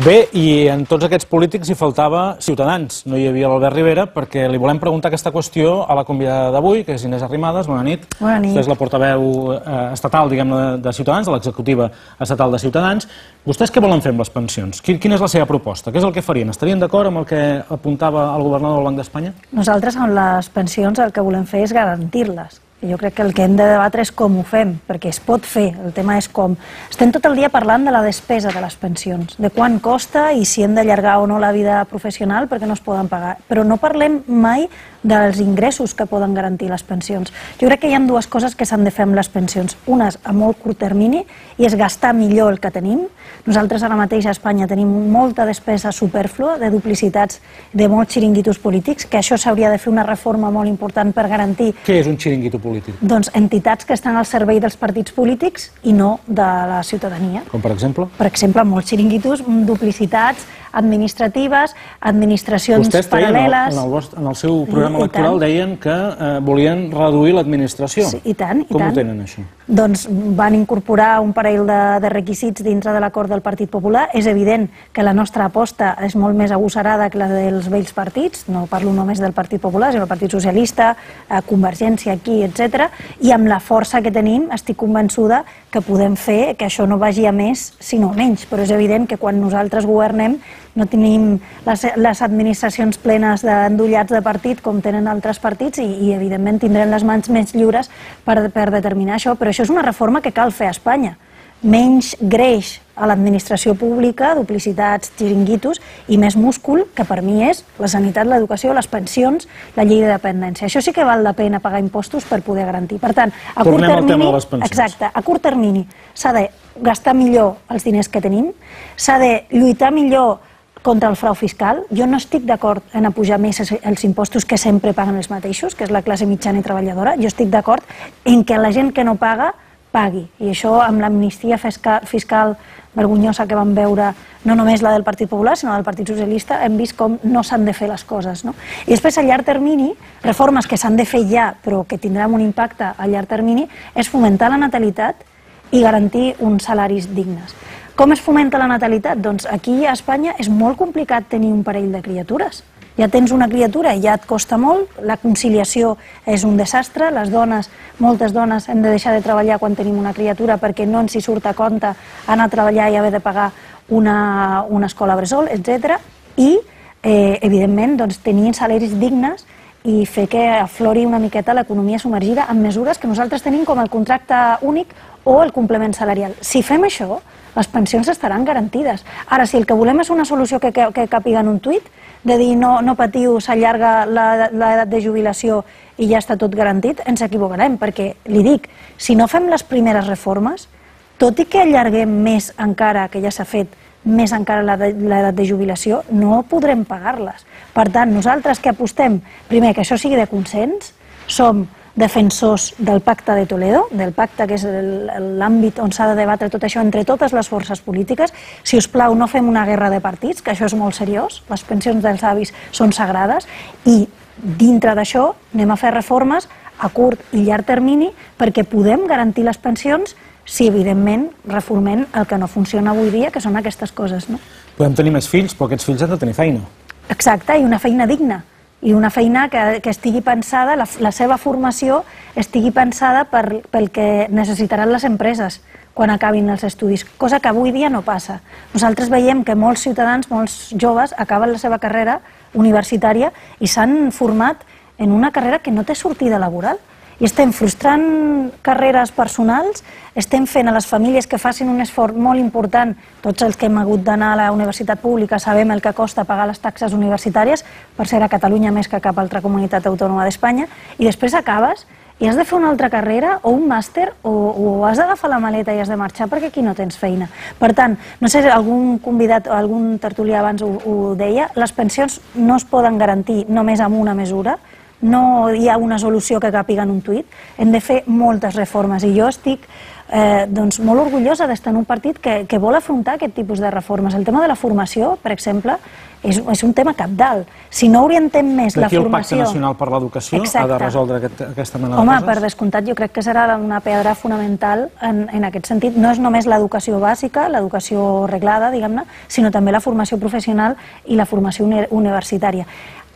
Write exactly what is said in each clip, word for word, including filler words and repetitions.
Bé, i en tots aquests polítics hi faltava Ciutadans. No hi havia l'Albert Rivera, perquè li volem preguntar aquesta qüestió a la convidada d'avui, que és Inés Arrimadas. Bona nit. Bona nit. Vostè és la portaveu estatal, diguem-ne, de Ciutadans, de l'executiva estatal de Ciutadans. Vostès què volen fer amb les pensions? Quina és la seva proposta? Què és el que farien? Estarien d'acord amb el que apuntava el governador del Banc d'Espanya? Nosaltres amb les pensions el que volem fer és garantir-les. Jo crec que el que hem de debatre és com ho fem, perquè es pot fer, el tema és com. Estem tot el dia parlant de la despesa de les pensions, de quant costa i si hem d'allargar o no la vida professional perquè no es poden pagar, però no parlem mai dels ingressos que poden garantir les pensions. Jo crec que hi ha dues coses que s'han de fer amb les pensions. Una és a molt curt termini i és gastar millor el que tenim. Nosaltres ara mateix a Espanya tenim molta despesa supèrflua de duplicitats de molts xiringuitos polítics, que això s'hauria de fer una reforma molt important per garantir... Què és un xiringuito polític? Doncs entitats que estan al servei dels partits polítics i no de la ciutadania. Com per exemple? Per exemple, molts xiringuitos, duplicitats administratives, administracions paral·leles... Vostès en el seu programa electoral deien que volien reduir l'administració. Sí, i tant, i tant. Com ho tenen, això? Doncs van incorporar un parell de requisits dintre de l'acord del Partit Popular. És evident que la nostra aposta és molt més agosarada que la dels vells partits, no parlo només del Partit Popular, sinó del Partit Socialista, Convergència aquí, etcètera, i amb la força que tenim estic convençuda que podem fer que això no vagi a més, sinó a menys, però és evident que quan nosaltres governem no tenim les administracions plenes d'endollats de partit com tenen altres partits i evidentment tindrem les mans més lliures per determinar això, però això és una reforma que cal fer a Espanya. Menys greix a l'administració pública, duplicitats, xiringuitos, i més múscul, que per mi és la sanitat, l'educació, les pensions, la llei de dependència. Això sí que val la pena pagar impostos per poder garantir. Per tant, a curt termini, exacte, a curt termini s'ha de gastar millor els diners que tenim, s'ha de lluitar millor contra el frau fiscal. Jo no estic d'acord en apujar més els impostos que sempre paguen els mateixos, que és la classe mitjana i treballadora. Jo estic d'acord en que la gent que no paga pagui. I això amb l'amnistia fiscal vergonyosa que vam veure, no només la del Partit Popular, sinó del Partit Socialista, hem vist com no s'han de fer les coses. I després, a llarg termini, reformes que s'han de fer ja, però que tindran un impacte a llarg termini, és fomentar la natalitat i garantir uns salaris dignes. Com es fomenta la natalitat? Doncs aquí a Espanya és molt complicat tenir un parell de criatures. Ja tens una criatura i ja et costa molt, la conciliació és un desastre, les dones, moltes dones hem de deixar de treballar quan tenim una criatura perquè no ens hi surt a compte anar a treballar i haver de pagar una, una escola bressol, etcètera. I, eh, evidentment, doncs, tenir salaris dignes i fer que aflori una miqueta l'economia submergida amb mesures que nosaltres tenim com el contracte únic o el complement salarial. Si fem això, les pensions estaran garantides. Ara, si el que volem és una solució que, que, que capiga en un tuit, de dir no, no patiu, s'allarga l'edat de jubilació i ja està tot garantit, ens equivocarem, perquè li dic, si no fem les primeres reformes, tot i que allarguem més encara, que ja s'ha fet, més encara l'edat de jubilació, no podrem pagar-les. Per tant, nosaltres que apostem, primer, que això sigui de consens, som defensors del pacte de Toledo, del pacte que és l'àmbit on s'ha de debatre tot això entre totes les forces polítiques. Si us plau, no fem una guerra de partits, que això és molt seriós, les pensions dels avis són sagrades, i dintre d'això anem a fer reformes a curt i llarg termini perquè podem garantir les pensions si, evidentment, reformem el que no funciona avui dia, que són aquestes coses. Podem tenir més fills, però aquests fills han de tenir feina. Exacte, i una feina digna. I una feina que estigui pensada, la seva formació estigui pensada pel que necessitaran les empreses quan acabin els estudis, cosa que avui dia no passa. Nosaltres veiem que molts ciutadans, molts joves, acaben la seva carrera universitària i s'han format en una carrera que no té sortida laboral. I estem frustrant carreres personals, estem fent a les famílies que facin un esforç molt important. Tots els que hem hagut d'anar a la universitat pública sabem el que costa pagar les taxes universitàries, per ser a Catalunya més que cap altra comunitat autònoma d'Espanya, i després acabes i has de fer una altra carrera o un màster o has d'agafar la maleta i has de marxar perquè aquí no tens feina. Per tant, no sé si algun convidat o algun tertulià abans ho deia, les pensions no es poden garantir només amb una mesura, no hi ha una solució que càpiga en un tuit, hem de fer moltes reformes i jo estic eh, doncs, molt orgullosa d'estar en un partit que, que vol afrontar aquest tipus de reformes. El tema de la formació, per exemple, és, és un tema cabdal. Si no orientem més la formació... Aquí el Pacte Nacional per l'Educació ha de resoldre aquest, aquesta mena de Home, coses? per descomptat, jo crec que serà una pedra fonamental en, en aquest sentit. No és només l'educació bàsica, l'educació reglada, diguem-ne, sinó també la formació professional i la formació uni universitària.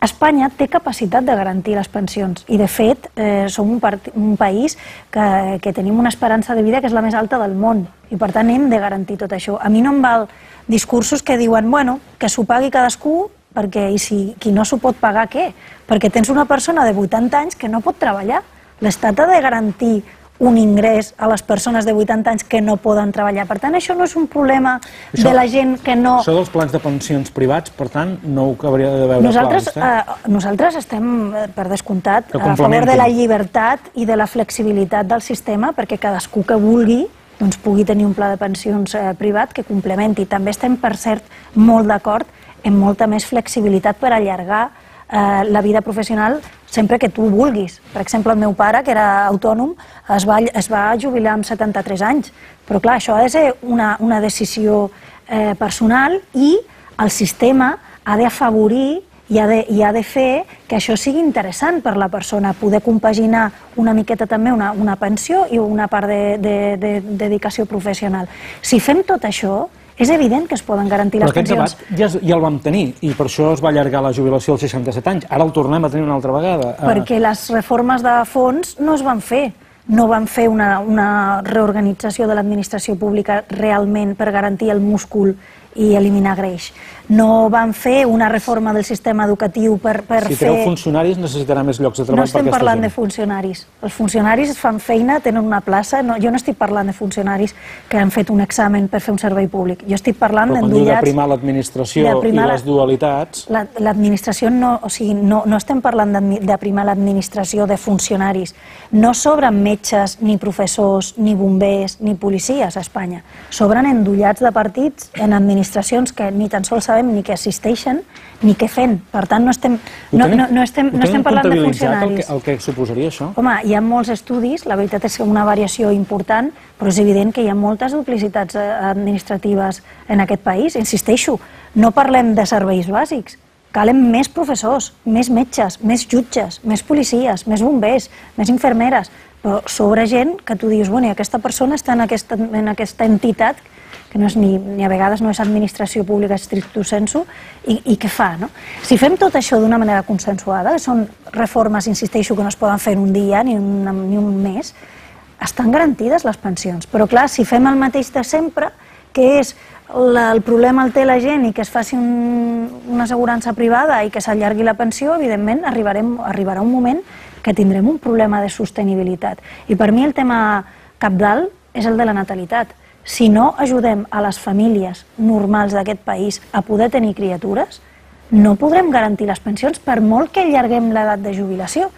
Espanya té capacitat de garantir les pensions i, de fet, eh, som un, un país que, que tenim una esperança de vida que és la més alta del món i, per tant, hem de garantir tot això. A mi no em val discursos que diuen, bueno, que s'ho pagui cadascú, perquè i si qui no s'ho pot pagar, què? Perquè tens una persona de vuitanta anys que no pot treballar. L'Estat ha de garantir un ingrés a les persones de vuitanta anys que no poden treballar. Per tant, això no és un problema això, de la gent que no... Això dels plans de pensions privats, per tant, no ho hauria de veure nosaltres, clar, eh, nosaltres estem, per descomptat, a favor de la llibertat i de la flexibilitat del sistema perquè cadascú que vulgui doncs, pugui tenir un pla de pensions eh, privat que complementi. També estem, per cert, molt d'acord en molta més flexibilitat per allargar eh, la vida professional sempre que tu vulguis. Per exemple, el meu pare, que era autònom, es va, es va jubilar amb setanta-tres anys. Però clar, això ha de ser una, una decisió eh, personal i el sistema ha d'afavorir i ha, de, i ha de fer que això sigui interessant per la persona, poder compaginar una miqueta també una, una pensió i una part de, de, de, de dedicació professional. Si fem tot això, és evident que es poden garantir les pensions. Però aquest debat ja, ja el vam tenir i per això es va allargar la jubilació als seixanta-set anys. Ara el tornem a tenir una altra vegada. Perquè les reformes de fons no es van fer. No van fer una, una reorganització de l'administració pública realment per garantir el múscul i eliminar greix. No van fer una reforma del sistema educatiu per, per fer... Si fer... teniu funcionaris necessitarà més llocs de treball per aquesta gent. No estem parlant de funcionaris. Els funcionaris fan feina, tenen una plaça. No, jo no estic parlant de funcionaris que han fet un examen per fer un servei públic. Jo estic parlant d'endollats... Però quan diu de primar l'administració i les dualitats... L'administració no... O sigui, no, no estem parlant de primar l'administració de funcionaris. No sobren metges, ni professors, ni bombers, ni policies a Espanya. Sobren endollats de partits en administracions que ni tan sols sabem ni que assisteixen ni què fent. Per tant, no estem, no, no, no estem, no estem parlant de funcionaris. El que, el que suposaria això? Home, hi ha molts estudis, la veritat és que una variació important, però és evident que hi ha moltes duplicitats administratives en aquest país. Insisteixo, no parlem de serveis bàsics. Calen més professors, més metges, més jutges, més policies, més bombers, més infermeres, però sobre gent que tu dius, bueno, aquesta persona està en aquesta, en aquesta entitat que no és ni, ni a vegades no és administració pública stricto sensu, i, i què fa, no? Si fem tot això d'una manera consensuada, són reformes, insisteixo, que no es poden fer en un dia ni, una, ni un mes, estan garantides les pensions. Però clar, si fem el mateix de sempre, que és la, el problema el té la gent i que es faci un, una assegurança privada i que s'allargui la pensió, evidentment arribarem, arribarà un moment que tindrem un problema de sostenibilitat. I per mi el tema cabdal és el de la natalitat. Si no ajudem a les famílies normals d'aquest país a poder tenir criatures, no podrem garantir les pensions per molt que allarguem l'edat de jubilació.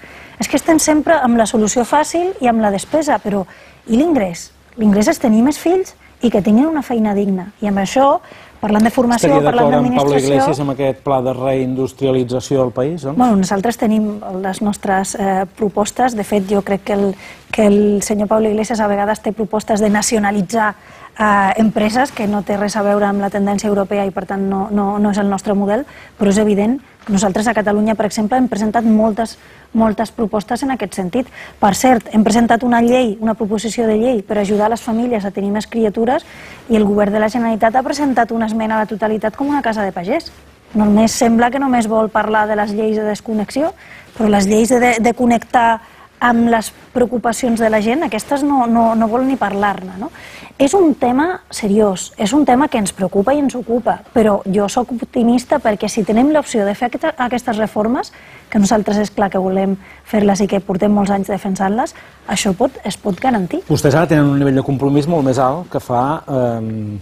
És que estem sempre amb la solució fàcil i amb la despesa, però i l'ingrés? L'ingrés és tenir més fills i que tinguin una feina digna. I amb això, parlant de formació, parlant d'administració... Estaria d'acord amb Pablo Iglesias amb aquest pla de reindustrialització del país, doncs? Bueno, nosaltres tenim les nostres eh, propostes. De fet, jo crec que el, que el senyor Pablo Iglesias a vegades té propostes de nacionalitzar eh, empreses, que no té res a veure amb la tendència europea i, per tant, no, no, no és el nostre model, però és evident. Nosaltres a Catalunya, per exemple, hem presentat moltes, moltes propostes en aquest sentit. Per cert, hem presentat una llei, una proposició de llei per ajudar les famílies a tenir més criatures i el govern de la Generalitat ha presentat una esmena a la totalitat com una casa de pagès. Només sembla que només vol parlar de les lleis de desconnexió, però les lleis de, de connectar amb les preocupacions de la gent, aquestes no, no, no vol ni parlar-ne, no? És un tema seriós, és un tema que ens preocupa i ens ocupa, però jo sóc optimista perquè si tenim l'opció de fer aquestes reformes, que nosaltres és clar que volem fer-les i que portem molts anys defensant-les, això pot, es pot garantir. Vostès ara tenen un nivell de compromís molt més alt que fa eh,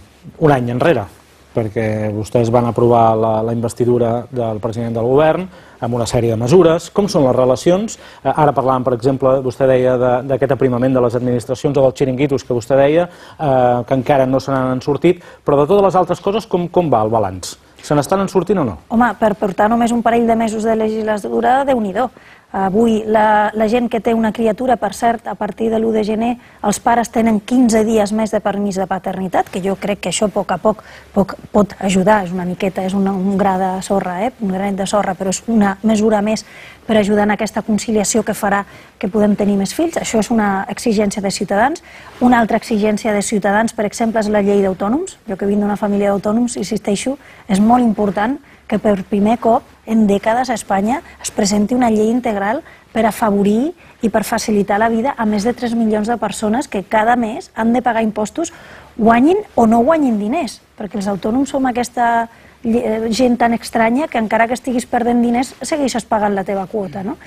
un any enrere, perquè vostès van aprovar la, la investidura del president del govern amb una sèrie de mesures. Com són les relacions? Eh, ara parlàvem, per exemple, vostè deia d'aquest aprimament de les administracions o dels xiringuitos que vostè deia, eh, que encara no se n'han sortit, però de totes les altres coses, com, com va el balanç? Se n'estan en sortint o no? Home, per portar només un parell de mesos de legislatura, Déu-n'hi-do. Avui la, la gent que té una criatura, per cert, a partir de l'u de gener, els pares tenen quinze dies més de permís de paternitat, que jo crec que això a poc a poc, poc pot ajudar, és una miqueta, és una, un gra de sorra, eh? un granet de sorra, però és una mesura més per ajudar en aquesta conciliació que farà que podem tenir més fills. Això és una exigència de Ciutadans. Una altra exigència de Ciutadans, per exemple, és la llei d'autònoms. Jo que vinc d'una família d'autònoms, insisteixo, és molt important que per primer cop en dècades a Espanya es presenti una llei integral per afavorir i per facilitar la vida a més de tres milions de persones que cada mes han de pagar impostos, guanyin o no guanyin diners, perquè els autònoms som aquesta gent tan estranya que encara que estiguis perdent diners segueixes pagant la teva quota. No?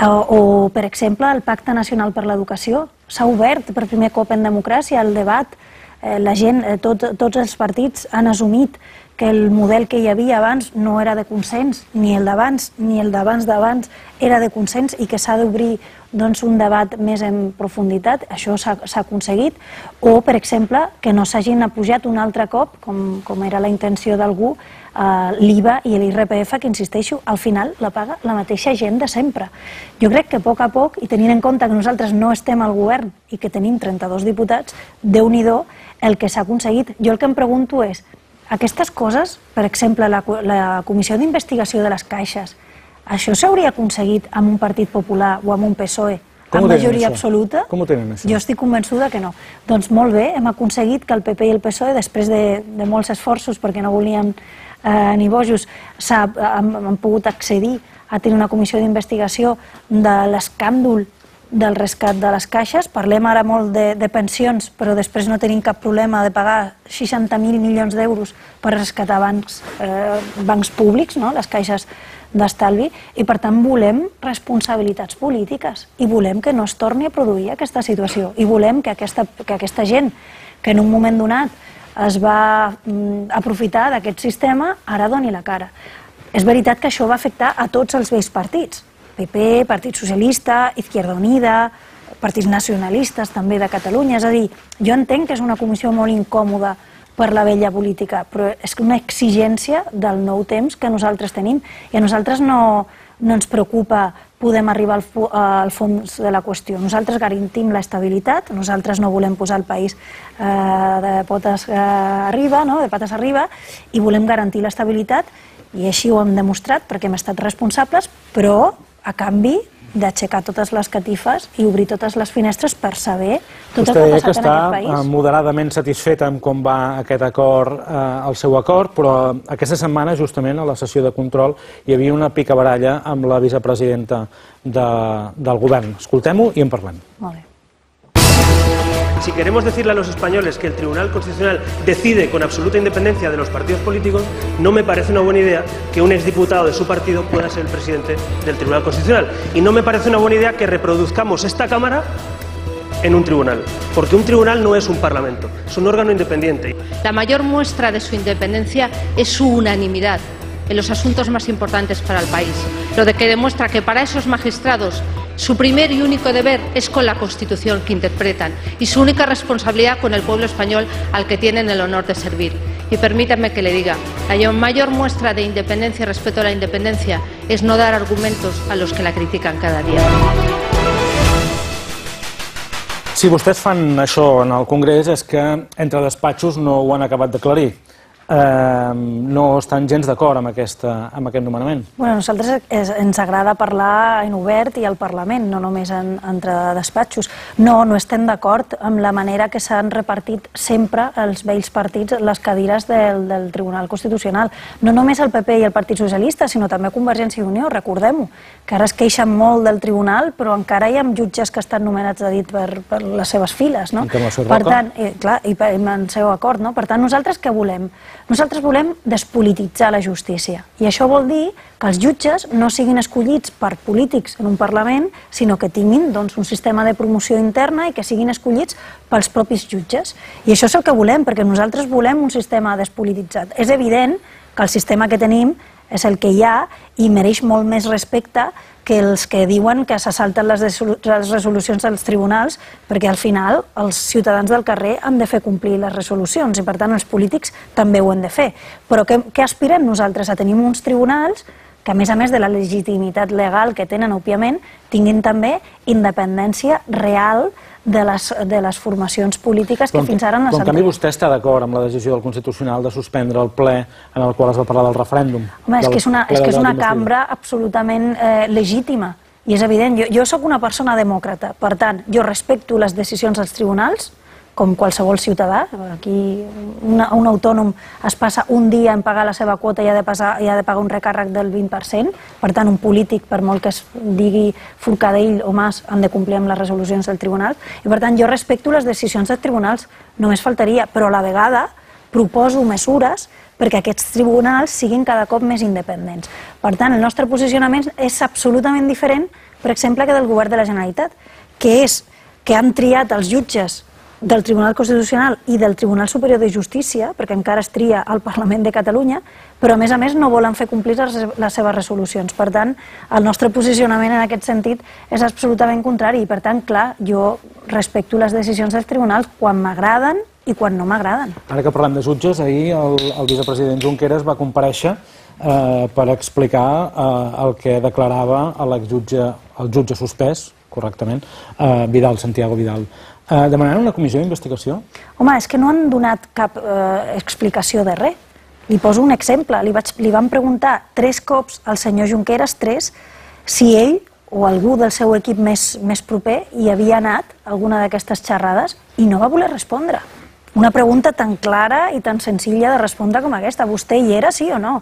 O, o, per exemple, el Pacte Nacional per l'Educació s'ha obert per primer cop en democràcia el debat. La gent, tot, tots els partits han assumit que el model que hi havia abans no era de consens, ni el d'abans ni el d'abans d'abans era de consens i que s'ha d'obrir doncs, un debat més en profunditat, això s'ha aconseguit, o, per exemple, que no s'hagin apujat un altre cop, com, com era la intenció d'algú, eh, l'I V A i l'I R P F, que, insisteixo, al final la paga la mateixa gent de sempre. Jo crec que a poc a poc, i tenint en compte que nosaltres no estem al govern i que tenim trenta-dos diputats, Déu-n'hi-do el que s'ha aconseguit. Jo el que em pregunto és, aquestes coses, per exemple, la, la Comissió d'Investigació de les Caixes, això s'hauria aconseguit amb un Partit Popular o amb un P S O E amb majoria absoluta? Com ho tenen, això? Jo estic convençuda que no. Doncs molt bé, hem aconseguit que el P P i el P S O E, després de, de molts esforços, perquè no volien eh, ni bojos, han, han pogut accedir a tenir una comissió d'investigació de l'escàndol del rescat de les caixes. Parlem ara molt de, de pensions, però després no tenim cap problema de pagar seixanta mil milions d'euros per rescatar bancs, eh, bancs públics, no? Les caixes d'estalvi, i per tant volem responsabilitats polítiques i volem que no es torni a produir aquesta situació i volem que aquesta, que aquesta gent que en un moment donat es va mm, aprofitar d'aquest sistema ara doni la cara. És veritat que això va afectar a tots els vells partits, P P, Partit Socialista, Izquierda Unida, partits nacionalistes també de Catalunya. És a dir, jo entenc que és una comissió molt incòmoda per la vella política, però és una exigència del nou temps que nosaltres tenim i a nosaltres no, no ens preocupa podem arribar al, al fons de la qüestió. Nosaltres garantim l'estabilitat, nosaltres no volem posar el país eh, de potes eh, arriba, no? de pates arriba, i volem garantir l'estabilitat, i així ho hem demostrat perquè hem estat responsables, però a canvi d'aixecar totes les catifes i obrir totes les finestres per saber tot el que ha passat en aquest país. Vostè està moderadament satisfet amb com va aquest acord, eh, el seu acord, però aquesta setmana, justament, a la sessió de control, hi havia una picabaralla amb la vicepresidenta de, del govern. Escoltem-ho i en parlem. Molt bé. Si queremos decirle a los españoles que el Tribunal Constitucional decide con absoluta independencia de los partidos políticos, no me parece una buena idea que un exdiputado de su partido pueda ser el presidente del Tribunal Constitucional. Y no me parece una buena idea que reproduzcamos esta Cámara en un tribunal, porque un tribunal no es un parlamento, es un órgano independiente. La mayor muestra de su independencia es su unanimidad en los asuntos más importantes para el país, lo de que demuestra que para esos magistrados su primer y único deber es con la Constitución que interpretan y su única responsabilidad con el pueblo español al que tienen el honor de servir. Y permítanme que le diga, la mayor muestra de independencia y respeto a la independencia es no dar argumentos a los que la critican cada día. Si vostès fan això en el Congrés és que entre despatxos no ho han acabat d'aclarir. Eh, no estan gens d'acord amb, aquesta, amb aquest nomenament. Bueno, a nosaltres és, ens agrada parlar en obert i al Parlament, no només en, entre despatxos. No, no estem d'acord amb la manera que s'han repartit sempre els vells partits les cadires del, del Tribunal Constitucional. No només el P P i el Partit Socialista, sinó també Convergència i Unió, recordem-ho, que ara es queixen molt del Tribunal, però encara hi ha jutges que estan nomenats a dit per, per les seves files, no? Per tant, eh, clar, i per, en seu acord, no? Per tant, nosaltres què volem? Nosaltres volem despolititzar la justícia i això vol dir que els jutges no siguin escollits per polítics en un Parlament, sinó que tinguin doncs, un sistema de promoció interna i que siguin escollits pels propis jutges. I això és el que volem, perquè nosaltres volem un sistema despolititzat. És evident que el sistema que tenim és el que hi ha i mereix molt més respecte que els que diuen que se salten les resolucions dels tribunals, perquè al final els ciutadans del carrer han de fer complir les resolucions i per tant els polítics també ho han de fer. Però què, què aspirem nosaltres? A tenir uns tribunals que a més a més de la legitimitat legal que tenen, òbviament, tinguin també independència real de les, de les formacions polítiques que fins ara no s'han... En canvi, vostè està d'acord amb la decisió del Constitucional de suspendre el ple en el qual es va parlar del referèndum? Home, és que és una, és que és una cambra absolutament eh, legítima, i és evident. Jo, jo sóc una persona demòcrata, per tant, jo respecto les decisions dels tribunals, com qualsevol ciutadà. Aquí una, un autònom es passa un dia en pagar la seva quota i ha de, passar, i ha de pagar un recàrrec del vint per cent. Per tant, un polític, per molt que es digui Forcadell o Mas, han de complir amb les resolucions del tribunal. I per tant, jo respecto les decisions dels tribunals, només faltaria, però a la vegada proposo mesures perquè aquests tribunals siguin cada cop més independents. Per tant, el nostre posicionament és absolutament diferent, per exemple, que del govern de la Generalitat, que és que han triat els jutges del Tribunal Constitucional i del Tribunal Superior de Justícia, perquè encara es tria al Parlament de Catalunya, però a més a més no volen fer complir les, les seves resolucions. Per tant, el nostre posicionament en aquest sentit és absolutament contrari i per tant, clar, jo respecto les decisions dels tribunals quan m'agraden i quan no m'agraden. Ara que parlem de jutges, ahir el, el vicepresident Junqueras va comparèixer eh, per explicar eh, el que declarava l'exjutge, el jutge suspès, correctament, eh, Vidal, Santiago Vidal. Eh, demanant una comissió d'investigació? Home, és que no han donat cap eh, explicació de res. Li poso un exemple. Li, vaig, li van preguntar tres cops al senyor Junqueras, tres, si ell o algú del seu equip més, més proper hi havia anat a alguna d'aquestes xerrades i no va voler respondre. Una pregunta tan clara i tan senzilla de respondre com aquesta. Vostè hi era, sí o no?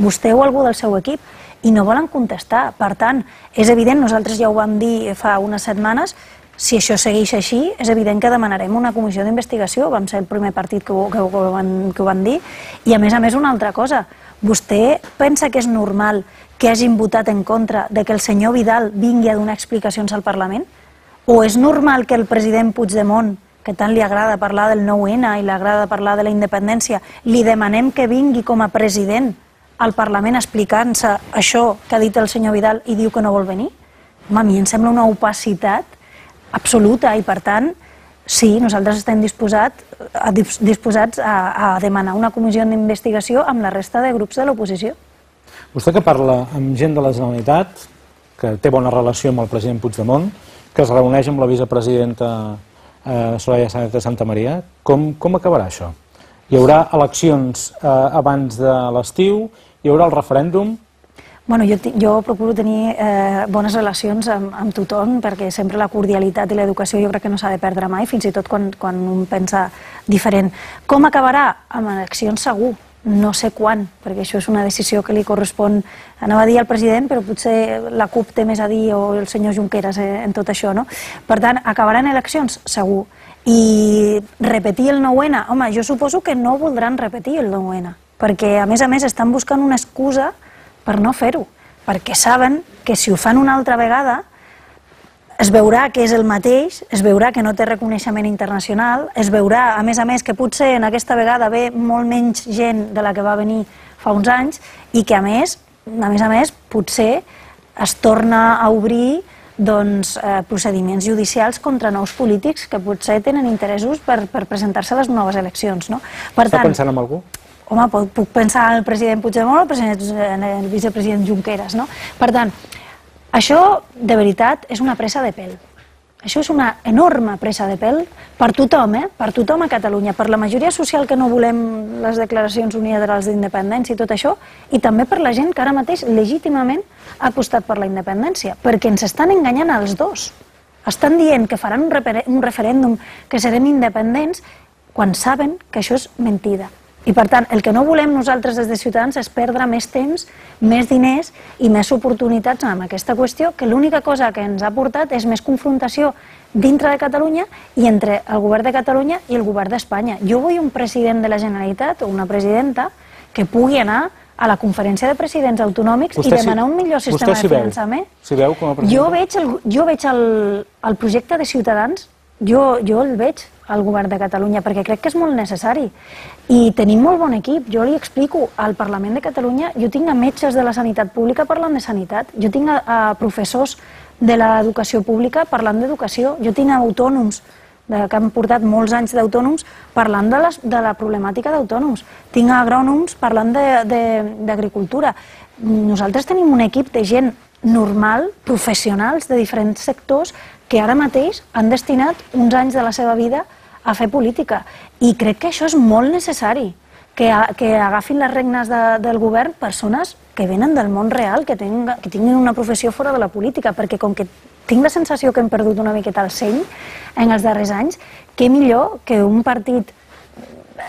Vostè o algú del seu equip? I no volen contestar. Per tant, és evident, nosaltres ja ho vam dir fa unes setmanes, si això segueix així, és evident que demanarem una comissió d'investigació. Vam ser el primer partit que ho, que, ho, que, ho van, que ho van dir. I a més a més una altra cosa. Vostè pensa que és normal que hagin votat en contra de que el senyor Vidal vingui a donar explicacions al Parlament? O és normal que el president Puigdemont, que tant li agrada parlar del nou ene i li agrada parlar de la independència, li demanem que vingui com a president al Parlament explicant-se això que ha dit el senyor Vidal i diu que no vol venir? Home, a mi em sembla una opacitat absoluta i per tant, sí, nosaltres estem disposat, a, disposats a, a demanar una comissió d'investigació amb la resta de grups de l'oposició. Vostè que parla amb gent de la Generalitat, que té bona relació amb el president Puigdemont, que es reuneix amb la vicepresidenta eh, Soraya Sáenz de Santamaría, com, com acabarà això? Hi haurà eleccions eh, abans de l'estiu, hi haurà el referèndum. Bueno, jo, jo procuro tenir eh, bones relacions amb, amb tothom perquè sempre la cordialitat i l'educació jo crec que no s'ha de perdre mai, fins i tot quan, quan un pensa diferent. Com acabarà? Amb eleccions segur, no sé quan, perquè això és una decisió que li correspon, anava a dir al president, però potser la CUP té més a dir o el senyor Junqueras eh, en tot això, no? Per tant, acabaran eleccions? Segur. I repetir el nou ene? Home, jo suposo que no voldran repetir el nou ene, perquè a més a més estan buscant una excusa per no fer-ho, perquè saben que si ho fan una altra vegada es veurà que és el mateix, es veurà que no té reconeixement internacional, es veurà, a més a més, que potser en aquesta vegada ve molt menys gent de la que va venir fa uns anys i que a més, a més a més, potser es torna a obrir doncs, eh, procediments judicials contra nous polítics que potser tenen interessos per, per presentar-se a les noves eleccions. No? Per Està tant, pensant en algú? Home, puc pensar en el president Puigdemont o el, president, en el vicepresident Junqueras, no? Per tant, això de veritat és una pressa de pèl. Això és una enorme pressa de pèl per tothom, eh? Per tothom a Catalunya, per la majoria social que no volem les declaracions unilaterals d'independència i tot això, i també per la gent que ara mateix legítimament ha apostat per la independència, perquè ens estan enganyant als dos. Estan dient que faran un, un referèndum, que serem independents, quan saben que això és mentida. I per tant, el que no volem nosaltres des de Ciutadans és perdre més temps, més diners i més oportunitats amb aquesta qüestió, que l'única cosa que ens ha portat és més confrontació dintre de Catalunya i entre el govern de Catalunya i el govern d'Espanya. Jo vull un president de la Generalitat o una presidenta que pugui anar a la conferència de presidents autonòmics i demanar un millor sistema de finançament. S'hi veu com a president? Jo veig el, jo veig el, el projecte de Ciutadans, jo, jo el veig al govern de Catalunya, perquè crec que és molt necessari. I tenim molt bon equip. Jo li explico, al Parlament de Catalunya jo tinc a metges de la sanitat pública parlant de sanitat, jo tinc a, a professors de l'educació pública parlant d'educació, jo tinc a autònoms de, que han portat molts anys d'autònoms parlant de, les, de la problemàtica d'autònoms, tinc a agrònoms parlant d'agricultura. nosaltres tenim un equip de gent normal, professionals de diferents sectors, que ara mateix han destinat uns anys de la seva vida a fer política. I crec que això és molt necessari, que, que agafin les regnes de, del govern persones que venen del món real, que, ten, que tinguin una professió fora de la política, perquè com que tinc la sensació que hem perdut una miqueta el seny en els darrers anys, què millor que un partit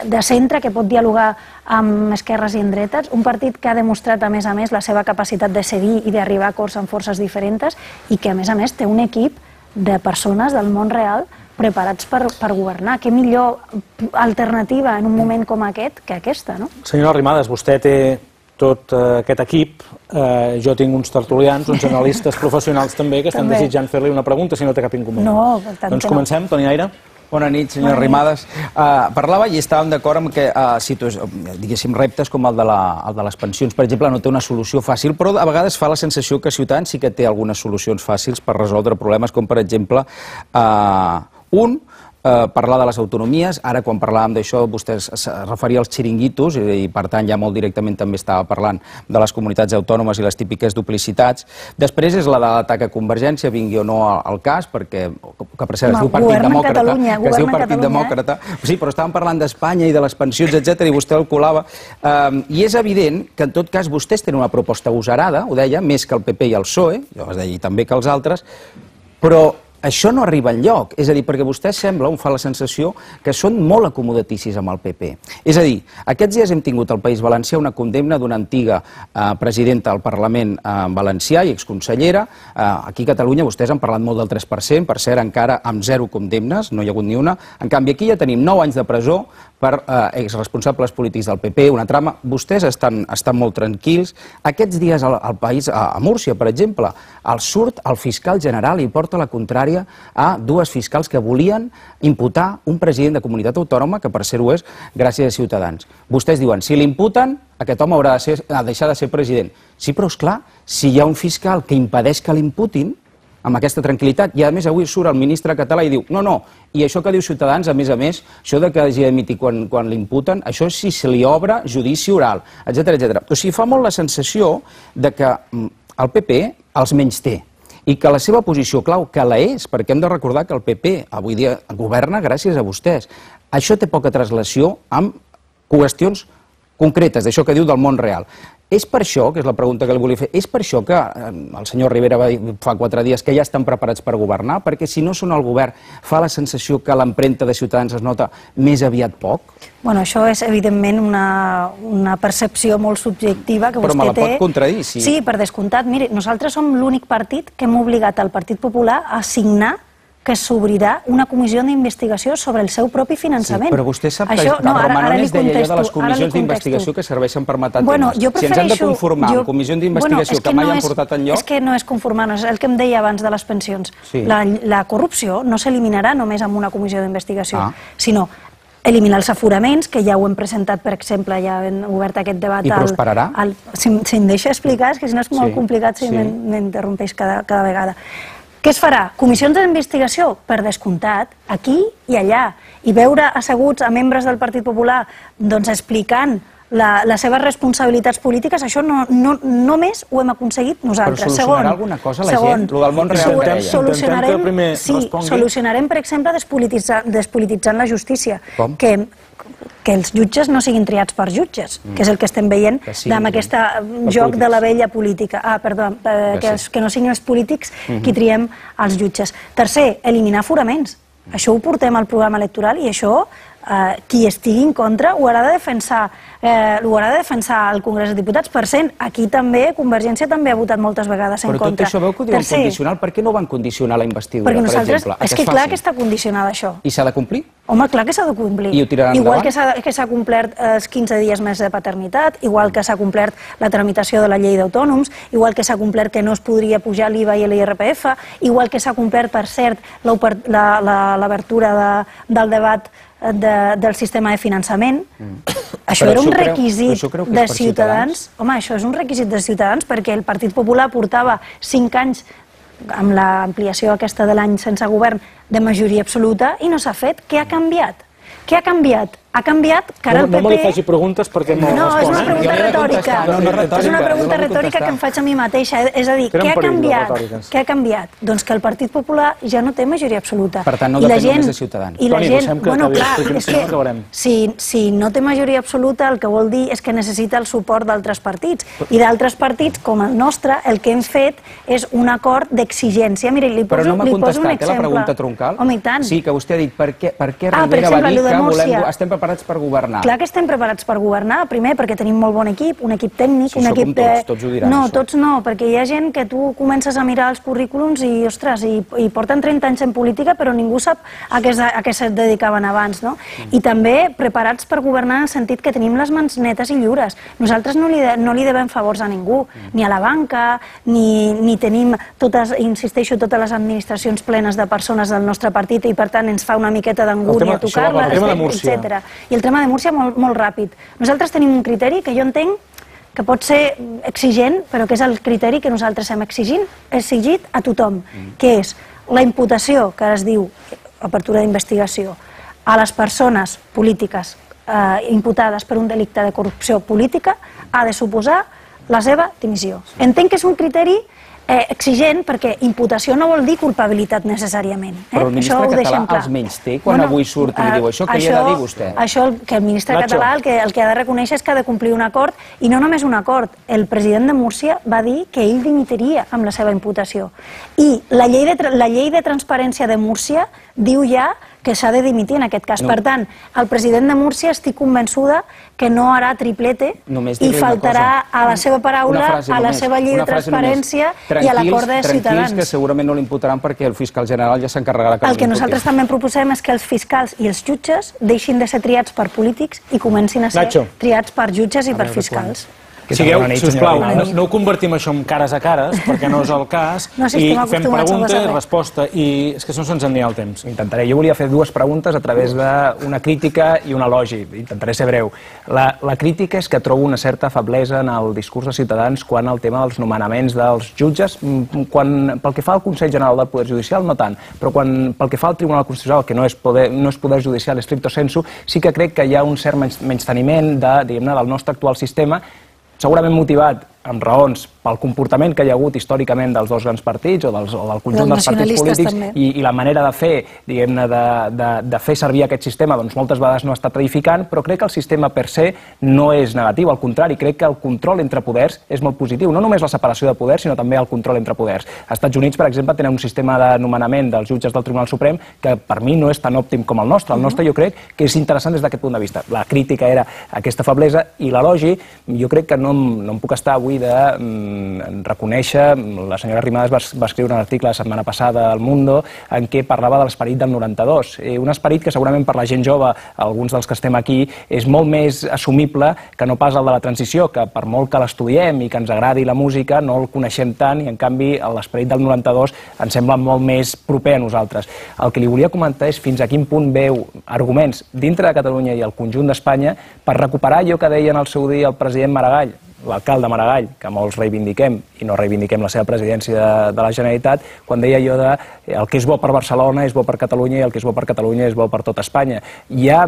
de centre que pot dialogar amb esquerres i en dretes, un partit que ha demostrat a més a més la seva capacitat de cedir i d'arribar a acords amb forces diferents i que a més a més té un equip de persones del món real preparats per, per governar. Què millor alternativa en un moment com aquest que aquesta, no? Senyora Arrimadas, vostè té tot eh, aquest equip, eh, jo tinc uns tertulians, uns analistes professionals també que estan També. desitjant fer-li una pregunta, si no té cap inconvenient. No, per tant Doncs que no. comencem, Toni Aire. Bona nit, senyora Arrimadas. Uh, parlava i estàvem d'acord amb que uh, diguéssim reptes com el de, la, el de les pensions, per exemple, no té una solució fàcil, però a vegades fa la sensació que Ciutadans sí que té algunes solucions fàcils per resoldre problemes, com per exemple uh, un, Uh, parlar de les autonomies. Ara, quan parlàvem d'això, vostè es referia als xiringuitos i, per tant, ja molt directament també estava parlant de les comunitats autònomes i les típiques duplicitats. Després és la de l'atac a Convergència, vingui o no al cas, perquè, que per cert es diu Partit Demòcrata, que es diu Partit Demòcrata. Sí, però estàvem parlant d'Espanya i de les pensions, etcètera, i vostè el colava. Uh, I és evident que, en tot cas, vostès tenen una proposta agosarada, ho deia, més que el P P i el P S O E, jo es deia, i també que els altres, però això no arriba enlloc, és a dir, perquè vostè sembla, em fa la sensació, que són molt acomodaticis amb el P P. És a dir, aquests dies hem tingut al País Valencià una condemna d'una antiga eh, presidenta del Parlament eh, valencià i exconsellera. Eh, aquí a Catalunya vostès han parlat molt del tres per cent, per cert, encara amb zero condemnes, no hi ha hagut ni una. En canvi, aquí ja tenim nou anys de presó per eh, exresponsables polítics del P P, una trama. Vostès estan, estan molt tranquils. Aquests dies al, al país, a, a Múrcia, per exemple, el surt el fiscal general i porta la contrària a dues fiscals que volien imputar un president de comunitat autònoma, que per ser-ho és gràcies a Ciutadans. Vostès diuen, si l'imputen, aquest home haurà de, ser, de deixar de ser president. Sí, però és clar, si hi ha un fiscal que impedeix que l'imputin, amb aquesta tranquil·litat, i a més avui surt el ministre català i diu, no, no, i això que diu Ciutadans, a més a més, això de que hagi d'emitir quan, quan l'imputen, això és si se li obre judici oral, etcètera, etcètera. O sigui, fa molt la sensació de que el P P els menysté, i que la seva posició clau, que la és, perquè hem de recordar que el P P avui dia governa gràcies a vostès. Això té poca translació amb qüestions concretes, d'això que diu del món real. És per això, que és la pregunta que li volia fer, és per això que el senyor Rivera va dir fa quatre dies que ja estan preparats per governar? Perquè si no són al govern, fa la sensació que l'empremta de Ciutadans es nota més aviat poc? Bueno, això és evidentment una, una percepció molt subjectiva que vostè té. Però me la pot contradir, sí. Sí, per descomptat. Miri, nosaltres som l'únic partit que hem obligat al Partit Popular a signar que s'obrirà una comissió d'investigació sobre el seu propi finançament. Sí, però vostè sap que això, no, Romanones deia allò de les comissions d'investigació que serveixen per matar bueno, temes. Si ens hem de conformar jo, amb comissions d'investigació bueno, que, que mai no és, han portat enlloc... És que no és conformar-nos, el que em deia abans de les pensions. Sí. La, la corrupció no s'eliminarà només amb una comissió d'investigació, ah. sinó eliminar els aforaments, que ja ho hem presentat, per exemple, ja hem obert aquest debat... I prosperarà? Al, al, si, si em deixa explicar, és que si no és molt sí. complicat si sí. m'interrompeix cada, cada vegada. Què es farà? Comissions d'investigació? Per descomptat, aquí i allà. I veure asseguts a membres del Partit Popular doncs, explicant la, les seves responsabilitats polítiques, això no, no, només ho hem aconseguit nosaltres. Però solucionarà segon, alguna cosa la segon, gent? Lo del món real que deia. Solucionarem, sí, solucionarem, per exemple, despolititzant, despolititzant la justícia. Com? Que, que els jutges no siguin triats per jutges, mm. que és el que estem veient que sí, amb aquest joc polítics. De la vella política. Ah, perdó, eh, que, sí. que no siguin els polítics mm-hmm. qui triem els jutges. Tercer, eliminar aforaments. Mm. Això ho portem al programa electoral i això eh, qui estigui en contra ho haurà de defensar eh, ho haurà de defensar al Congrés dels Diputats. Per cent, aquí també, Convergència també ha votat moltes vegades en contra. Però tot això veu que ho diuen Tercer, condicional, per què no van condicionar la investidura, per exemple? És que clar que està condicionada això. I s'ha de complir? Home, clar que s'ha de complir. I ho tiraran igual endavant? que s'ha complert els quinze dies més de paternitat, igual que s'ha complert la tramitació de la llei d'autònoms, igual que s'ha complert que no es podria pujar l'I V A i l'I R P F, igual que s'ha complert, per cert, l'obertura de, del debat de, del sistema de finançament. Mm. Això però era un això requisit creu, de Ciutadans. Ciutadans. Home, això és un requisit de Ciutadans perquè el Partit Popular portava cinc anys amb l'ampliació aquesta de l'any sense govern de majoria absoluta i no s'ha fet. Què ha canviat? Què ha canviat ha canviat que ara el P P... No me li faci preguntes perquè no No, és una respon. pregunta retòrica. És una pregunta retòrica que em faig a mi mateixa. És a dir, què ha canviat? Què ha canviat? Doncs que el Partit Popular ja no té majoria absoluta. Per tant, no depèn només de Ciutadans. I la Toni, gent... deixem que Bueno, acabi, clar, perquè és si no que acabarem. si, si no té majoria absoluta, el que vol dir és que necessita el suport d'altres partits. I d'altres partits, com el nostre, el que hem fet és un acord d'exigència. Mira, li poso, Però no m'ha li poso un contestat, eh, la exemple. pregunta troncal. Home, i tant. Sí, que vostè ha dit per què, per què Ah, per Rivera va exemple, dir allò de que volem, Múrcia. estem preparats per governar. Clar que estem preparats per governar, primer perquè tenim molt bon equip, un equip tècnic, Sí, un això equip com tots, tots ho diran, No, això. tots no, perquè hi ha gent que tu comences a mirar els currículums i, ostres, i, i porten trenta anys en política, però ningú sap a què, a què se dedicaven abans, no? I també preparats per governar en el sentit que tenim les mans netes i lliures. Nosaltres no li, de, no li devem favors a ningú, ni a la banca, ni, ni tenim totes, insisteixo, totes les administracions plenes de persones del nostre partit i per tant ens fa una miqueta d'angúnia tocar-les, etcètera. I el tema de Múrcia molt, molt ràpid. Nosaltres tenim un criteri que jo entenc que pot ser exigent, però que és el criteri que nosaltres hem exigint, exigit a tothom, que és la imputació, que ara es diu apertura d'investigació, a les persones polítiques eh, imputades per un delicte de corrupció política ha de suposar la seva dimissió. Entenc que és un criteri eh, exigent perquè imputació no vol dir culpabilitat necessàriament. Eh? Però el ministre català els menys té quan bueno, avui surt i diu això, què li ha de dir vostè? Això que el ministre Nacho. català el que, el que ha de reconèixer és que ha de complir un acord i no només un acord. El president de Múrcia va dir que ell dimitiria amb la seva imputació. I la llei de, la llei de transparència de Múrcia diu ja que s'ha de dimitir en aquest cas. No. Per tant, el president de Múrcia estic convençuda que no harà triplete i faltarà a la seva paraula, a la seva llei de transparència i a l'acord de Ciutadans. Tranquils, que segurament no l'imputaran perquè el fiscal general ja s'encarregarà que el que nosaltres també proposem és que els fiscals i els jutges deixin de ser triats per polítics i comencin a ser Nacho. triats per jutges i per fiscals. Sigueu, sisplau, no, no ho convertim això en cares a cares, perquè no és el cas, no, si i fem pregunta i resposta, i és que no se'ns en dia el temps. Intentaré. Jo volia fer dues preguntes a través d'una crítica i un elogi. Intentaré ser breu. La, la crítica és que trobo una certa feblesa en el discurs de Ciutadans quan el tema dels nomenaments dels jutges, quan, pel que fa al Consell General del Poder Judicial, no tant, però quan, pel que fa al Tribunal Constitucional, que no és poder, no és poder judicial estricto sensu, sí que crec que hi ha un cert menysteniment de, diguem-ne, del nostre actual sistema, segurament motivat amb raons pel comportament que hi ha hagut històricament dels dos grans partits o, dels, o del conjunt dels partits polítics i, i la manera de fer, diguem-ne, de, de, de fer servir aquest sistema, doncs moltes vegades no ha estat edificant, però crec que el sistema per se no és negatiu, al contrari, crec que el control entre poders és molt positiu, no només la separació de poders, sinó també el control entre poders. Als Estats Units, per exemple, tenen un sistema de nomenament dels jutges del Tribunal Suprem que per mi no és tan òptim com el nostre. El nostre jo crec que és interessant des d'aquest punt de vista. La crítica era aquesta feblesa i l'elogi, jo crec que no, no em puc estar avui de mm, reconèixer, la senyora Arrimadas va, va escriure un article la setmana passada al Mundo en què parlava de l'esperit del noranta-dos, eh, un esperit que segurament per la gent jove, alguns dels que estem aquí, és molt més assumible que no pas el de la transició, que per molt que l'estudiem i que ens agradi la música, no el coneixem tant i en canvi l'esperit del noranta-dos ens sembla molt més proper a nosaltres. El que li volia comentar és fins a quin punt veu arguments dintre de Catalunya i el conjunt d'Espanya per recuperar allò que deia en el seu dia el president Maragall, l'alcalde Maragall, que molts reivindiquem i no reivindiquem la seva presidència de, de la Generalitat, quan deia allò de el que és bo per Barcelona és bo per Catalunya i el que és bo per Catalunya és bo per tot Espanya. Hi ha,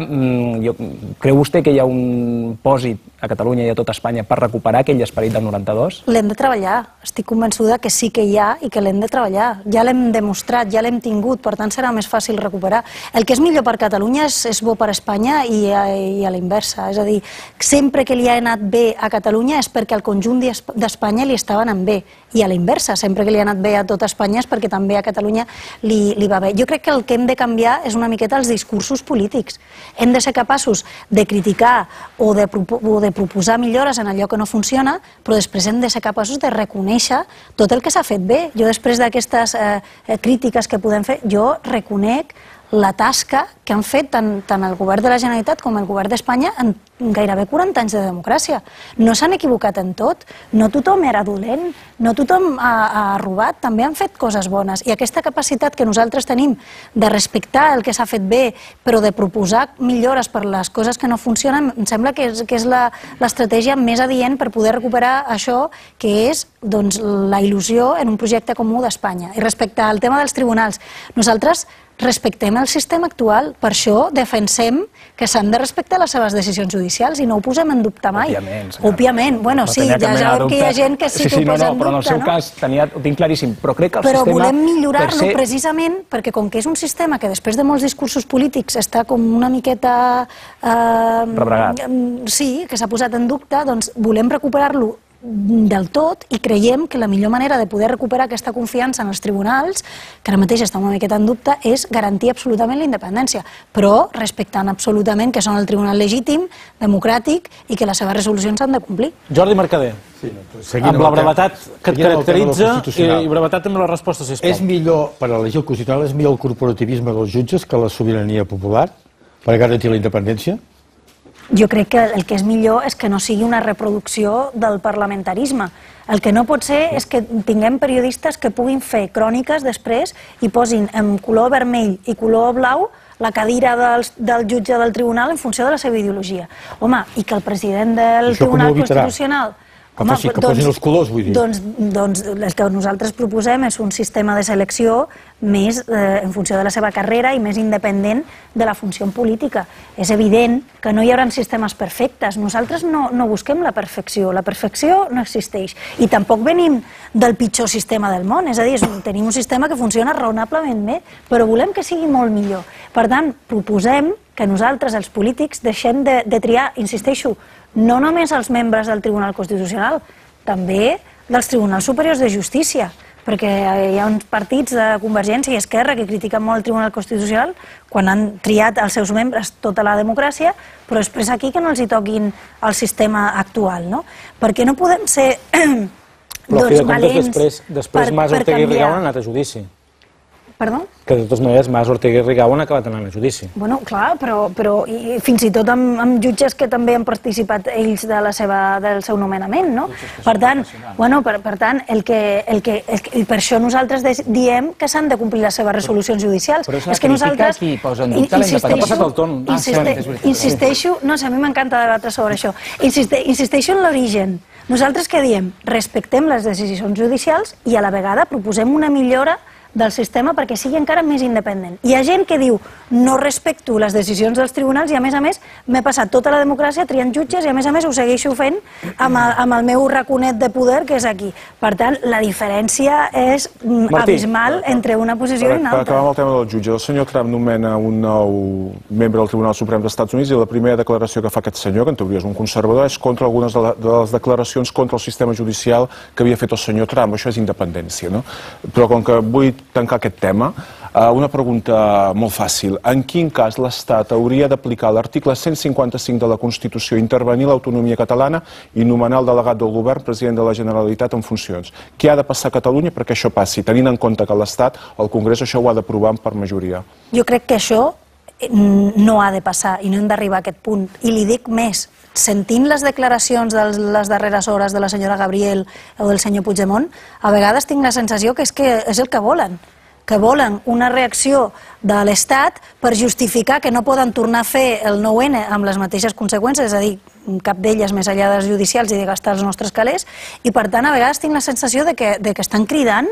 jo, creu vostè que hi ha un pòsit a Catalunya i a tot Espanya per recuperar aquell esperit del noranta-dos? L'hem de treballar. Estic convençuda que sí que hi ha i que l'hem de treballar. Ja l'hem demostrat, ja l'hem tingut, per tant serà més fàcil recuperar. El que és millor per Catalunya és, és bo per Espanya i a, i a la inversa. És a dir, sempre que li ha anat bé a Catalunya és perquè al conjunt d'Espanya li estava anant bé. I a la inversa, sempre que li ha anat bé a tot Espanya és perquè també a Catalunya li, li va bé. Jo crec que el que hem de canviar és una miqueta els discursos polítics. Hem de ser capaços de criticar o de, o de proposar millores en allò que no funciona, però després hem de ser capaços de reconèixer tot el que s'ha fet bé. Jo després d'aquestes eh, crítiques que podem fer, jo reconec la tasca que han fet tant, tant el govern de la Generalitat com el govern d'Espanya en gairebé quaranta anys de democràcia. No s'han equivocat en tot, no tothom era dolent, no tothom ha, ha robat, també han fet coses bones. I aquesta capacitat que nosaltres tenim de respectar el que s'ha fet bé, però de proposar millores per les coses que no funcionen, em sembla que és, que és l'estratègia més adient per poder recuperar això que és doncs, la il·lusió en un projecte comú d'Espanya. I respecte al tema dels tribunals, nosaltres respectem el sistema actual. Per això defensem que s'han de respectar les seves decisions judicials i no ho posem en dubte mai. Òbviament. Òbviament. Bueno, sí, ja sabem que hi ha gent que sí que ho posa en dubte, no? Però en el seu cas ho tinc claríssim. Però crec que el sistema... Però volem millorar-lo precisament perquè com que és un sistema que després de molts discursos polítics està com una miqueta... Rebregat. Sí, que s'ha posat en dubte, doncs volem recuperar-lo del tot i creiem que la millor manera de poder recuperar aquesta confiança en els tribunals, que ara mateix està una miqueta en dubte, és garantir absolutament la independència, però respectant absolutament que són el tribunal legítim, democràtic i que les seves resolucions s'han de complir. Jordi Mercader, amb la brevetat que et caracteritza i brevetat amb la resposta, sisplau. És millor, per elegir el Constitucional, és millor el corporativisme dels jutges que la sobirania popular per garantir la independència? Jo crec que el que és millor és que no sigui una reproducció del parlamentarisme. El que no pot ser és que tinguem periodistes que puguin fer cròniques després i posin en color vermell i color blau la cadira del, del jutge del tribunal en funció de la seva ideologia. Home, i que el president del Tribunal Constitucional... Que posin els colors, vull dir. Doncs el que nosaltres proposem és un sistema de selecció més en funció de la seva carrera i més independent de la funció política. És evident que no hi haurà sistemes perfectes. Nosaltres no busquem la perfecció. La perfecció no existeix. I tampoc venim del pitjor sistema del món. És a dir, tenim un sistema que funciona raonablement bé, però volem que sigui molt millor. Per tant, proposem que nosaltres, els polítics, deixem de triar, insisteixo, no només els membres del Tribunal Constitucional, també dels Tribunals Superiors de Justícia, perquè hi ha uns partits de Convergència i Esquerra que critiquen molt el Tribunal Constitucional quan han triat els seus membres tota la democràcia, però després aquí que no els hi toquin el sistema actual, no? Perquè no podem ser doncs valents després Mas Ortega i Rigau han anat a judici. Perdó? Que de totes maneres Mas Ortega i Rigau han acabat anant a judici. Bueno, clar, però fins i tot amb jutges que també han participat ells del seu nomenament, no? Per tant, per tant, el que... I per això nosaltres diem que s'han de complir les seves resolucions judicials. Però és una crítica qui posa en dubte la independència. Ha passat el torn. Insisteixo, no sé, a mi m'encanta debatre sobre això. Insisteixo en l'origen. Nosaltres què diem? Respectem les decisions judicials i a la vegada proposem una millora del sistema perquè sigui encara més independent. Hi ha gent que diu no respecto les decisions dels tribunals i a més a més m'he passat tota la democràcia triant jutges i a més a més ho segueixo fent amb el meu raconet de poder que és aquí. Per tant, la diferència és abismal entre una posició i una altra. Per acabar amb el tema del jutge, el senyor Trump nomena un nou membre del Tribunal Suprem dels Estats Units i la primera declaració que fa aquest senyor, que en teoria és un conservador, és contra algunes de les declaracions contra el sistema judicial que havia fet el senyor Trump. Això és independència, no? Però com que vull tancar aquest tema, una pregunta molt fàcil. En quin cas l'Estat hauria d'aplicar l'article cent cinquanta-cinc de la Constitució, intervenir l'autonomia catalana i nomenar el delegat del govern president de la Generalitat en funcions? Què ha de passar a Catalunya perquè això passi, tenint en compte que l'Estat, el Congrés, això ho ha d'aprovar per majoria? Jo crec que això no ha de passar i no hem d'arribar a aquest punt. I li dic més, sentint les declaracions de les darreres hores de la senyora Gabriel o del senyor Puigdemont, a vegades tinc la sensació que és que és el que volen, que volen una reacció de l'Estat per justificar que no poden tornar a fer el nou ene amb les mateixes conseqüències, és a dir, cap d'elles més enllà dels judicials i de gastar els nostres calés, i per tant a vegades tinc la sensació de que estan cridant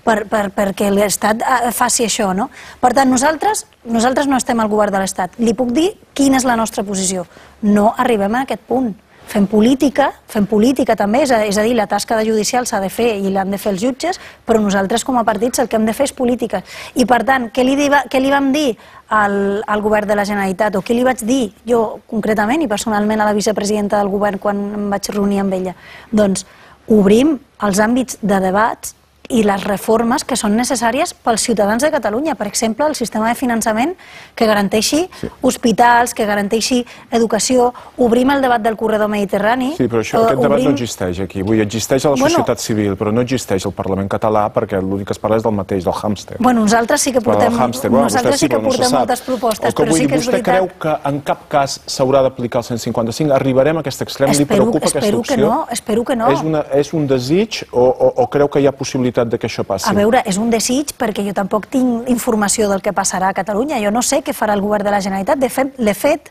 perquè l'Estat faci això, no? Per tant, nosaltres no estem al govern de l'Estat. Li puc dir quina és la nostra posició. No arribem a aquest punt. Fem política, fem política també, és a dir, la tasca de judicial s'ha de fer i l'han de fer els jutges, però nosaltres com a partits el que hem de fer és política. I per tant, què li vam dir al govern de la Generalitat, o què li vaig dir jo concretament i personalment a la vicepresidenta del govern quan em vaig reunir amb ella? Doncs obrim els àmbits de debats i les reformes que són necessàries pels ciutadans de Catalunya. Per exemple, el sistema de finançament que garanteixi hospitals, que garanteixi educació. Obrim el debat del corredor mediterrani. Sí, però aquest debat no existeix aquí. Vull dir, existeix a la societat civil, però no existeix al Parlament català perquè l'únic que es parla és del mateix, del hàmster. Bueno, nosaltres sí que portem moltes propostes, però sí que és veritat. Vostè creu que en cap cas s'haurà d'aplicar el cent cinquanta-cinc? Arribarem a aquest extrem? Li preocupa aquesta opció? Espero que no. És un desig o creu que hi ha possibilitat de que això passi? A veure, és un desig perquè jo tampoc tinc informació del que passarà a Catalunya. Jo no sé què farà el govern de la Generalitat. De fet, l'he fet,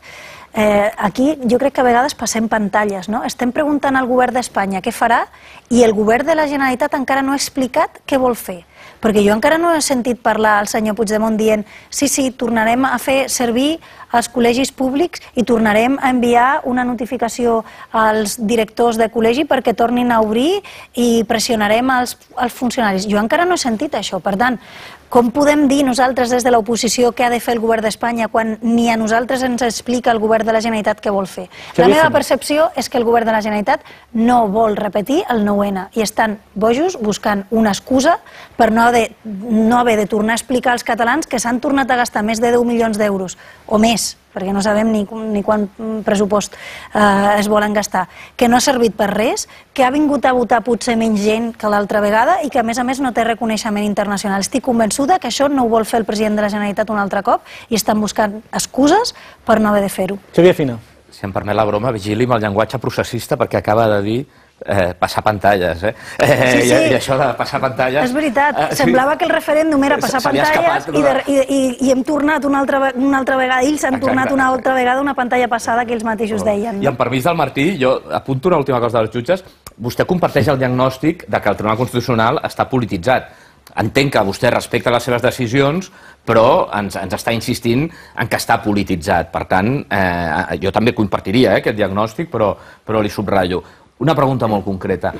aquí jo crec que a vegades passem pantalles, no? Estem preguntant al govern d'Espanya què farà i el govern de la Generalitat encara no ha explicat què vol fer. Perquè jo encara no he sentit parlar al senyor Puigdemont dient sí, sí, tornarem a fer servir els col·legis públics i tornarem a enviar una notificació als directors de col·legi perquè tornin a obrir i pressionarem els, els funcionaris. Jo encara no he sentit això. Per tant, com podem dir nosaltres des de l'oposició què ha de fer el govern d'Espanya quan ni a nosaltres ens explica el govern de la Generalitat què vol fer? La meva percepció és que el govern de la Generalitat no vol repetir el nou ena i estan bojos buscant una excusa per no haver, no haver de tornar a explicar als catalans que s'han tornat a gastar més de deu milions d'euros o més, perquè no sabem ni, ni quant pressupost eh, es volen gastar, que no ha servit per res, que ha vingut a votar potser menys gent que l'altra vegada i que a més a més no té reconeixement internacional. Estic convençuda que això no ho vol fer el president de la Generalitat un altre cop i estan buscant excuses per no haver de fer-ho. Xavier Fina. Si em permet la broma, vigili amb el llenguatge processista perquè acaba de dir Eh, passar pantalles, eh? eh sí, sí. I, I això de passar pantalles... És veritat, eh, semblava sí. que el referèndum era passar pantalles i, de, i, i, i hem tornat una altra, una altra vegada, ells han exacte, tornat una altra vegada una pantalla passada que ells mateixos oh. deien. I amb permís del Martí, jo apunto una última cosa dels jutges, vostè comparteix el diagnòstic de que el Tribunal Constitucional està polititzat. Entenc que vostè respecta les seves decisions, però ens, ens està insistint en que està polititzat. Per tant, eh, jo també compartiria eh, aquest diagnòstic, però, però li subratllo. Una pregunta molt concreta.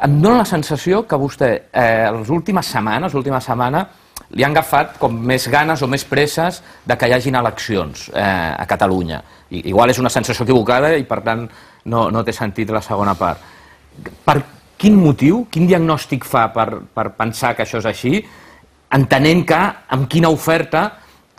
Em dóna la sensació que vostè, eh, les últimes setmanes, l'última setmana, li han agafat com més ganes o més presses de que hi hagin eleccions eh, a Catalunya. I, igual és una sensació equivocada i, per tant, no, no té sentit la segona part. Per quin motiu, quin diagnòstic fa per, per pensar que això és així, entenent que amb quina oferta,